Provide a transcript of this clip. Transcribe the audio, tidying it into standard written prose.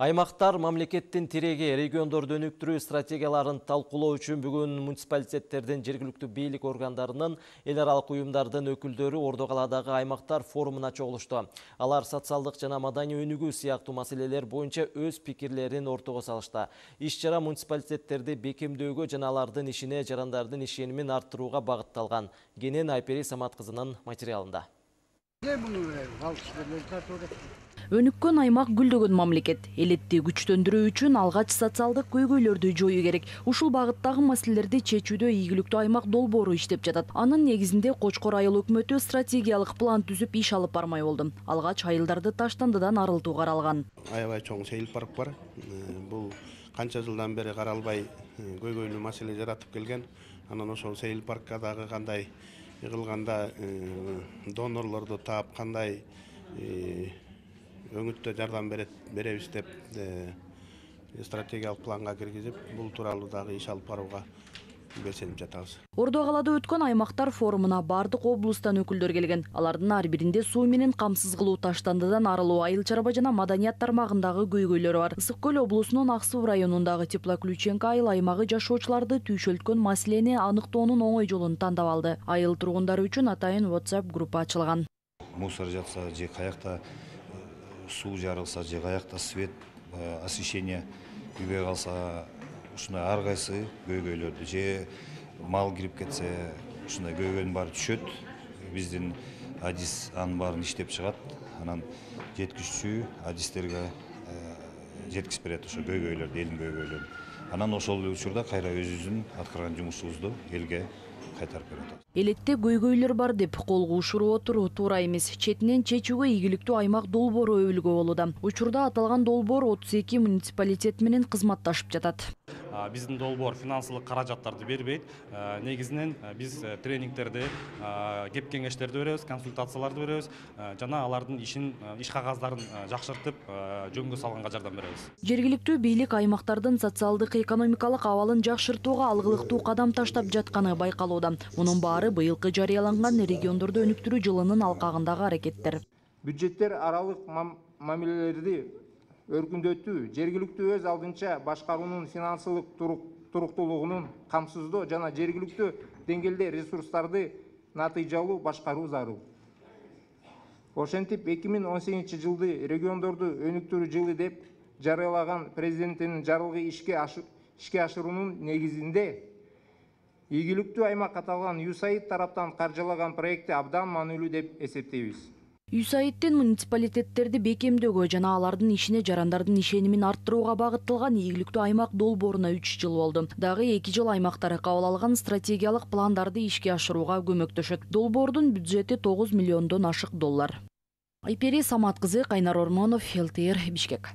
Аймактар мамлекеттин тиреги региондорду өнүктүрүү стратегияларын талкуулоо үчүн бүгүн муниципалитеттердин, жергиликтүү бийлик органдарынын, эл аралык уюмдардын өкүлдөрү Ордо калаадагы аймактар форумуна чогулушту. Алар социалдык жана маданий өнүгүү сыяктуу маселелер боюнча өз пикирлерин ортого салышты. Иш-чара муниципалитеттерди бекемдөөгө жана алардын ишине жарандардын ишенимин арттырууга багытталган. Кенен Айпери Самат кызынын материалында. Өнүккөн аймак гүлдөгөн мамлекет. Элетти күчтөндүрүү үчүн алгач социалдык көйгөйлөрдү жоюу керек. Ушул багыттагы маселелерди чечүүдө ийгиликтүү аймак долбоору иштеп жатат. Анын негизинде Кочкор айыл өкмөтү стратегиялык план түзүп иш алып бармай болду. Алгач айылдарды таштандыдан арылтуу каралган. Аябай чоң сейил парк бар. Бул канча жылдан бери каралбай көйгөйлүү маселе жаратып келген. Анан ошол сейил паркка дагы кандай йыгылганда донорлорду таап кандай өңүттө жардам беребиз деп стратегиялык планга киргизип, бул тууралуу дагы иш алып барууга белсенип жатабыз. Ордо калаада өткөн аймактар форумуна бардык облустан өкүлдөр келген. Алардын ар биринде суу менен камсыз кылуу, таштандыдан арылуу, айыл чарба жана маданият тармагындагы көйгөйлөр бар. Ысык көл облусунун Ак Суу районундагы Теплоключенко айыл аймагы жашоочуларды түйшөлткөн маселени аныктоонун оңой жолун тандап алды. Айыл тургундары үчүн атайын WhatsApp группа ачылган. Мусор жатса же каякта суу жарылса, же каякта свет, освещение күйбөй калса, ушундай ар кайсы көйгөйлөрдү, же мал кирип кетсе, ушундай көйгөйдүн баары түшөт. Биздин адис анын баарын иштеп чыгат. Анан жеткизүүчү адистерге жеткизип берет ошо көйгөйлөрдү, элдин көйгөйлөрүн. Анан ошол учурда кайра өзүбүздүн аткарган жумушубузду элге кайтарып берет. Элетте көйгөйлөр бар деп колго ушуруп отуруу туура эмес. Четинен чечүүгө ийгиликтүү аймак долбоору өбүлгө болууда. Учурда аталган долбоор 32 муниципалитет менен кызматташып жатат. Биздин долбоор финансылык каражаттарды бербейт. Негизинен биз тренингтерди, кеп кеңештерди беребиз, консультацияларды беребиз жана алардын иш кагаздарын жакшыртып, жөнгө салганга жардам беребиз. Жергиликтүү бийлик аймактардын социалдык экономикалык абалын жакшыртууга алгылыктуу кадам таштап жатканы байкалууда. Мунун баары быйылкы жарыяланган региондорду өнүктүрүү жылынын алкагындагы аракеттер. Бюджеттер аралык мамилелерди өркүндөтүү, жергиликтүү өз алдынча башкаруунун финансылык туруктуулугунун камсыздоо жана жергиликтүү деңгээлде ресурстарды натыйжалуу башкаруу зарыл. Ошентип 2018 жылды региондорду өнүктүрүү жылы деп жарыялаган президенттин жарлыгы ишке ашыруунун негизинде ийгиликтүү аймак аталган USAID тараптан каржылаган проекти абдан маанилүү деп эсептейбиз. USAIDтин муниципалитеттерди бекемдөөгө жана алардын ишине жарандардын ишенимин арттырууга багытталган ийгиликтүү аймак долбооруна 3 жыл болду. Дагы 2 жыл аймактар кабыл алган стратегиялык пландарды ишке ашырууга көмөктөшөт. Долбоордун бюджети $9 миллиондон ашык доллар. Айпери Самат кызы, Кайнар Ормонов, ЛТР, Бишкек.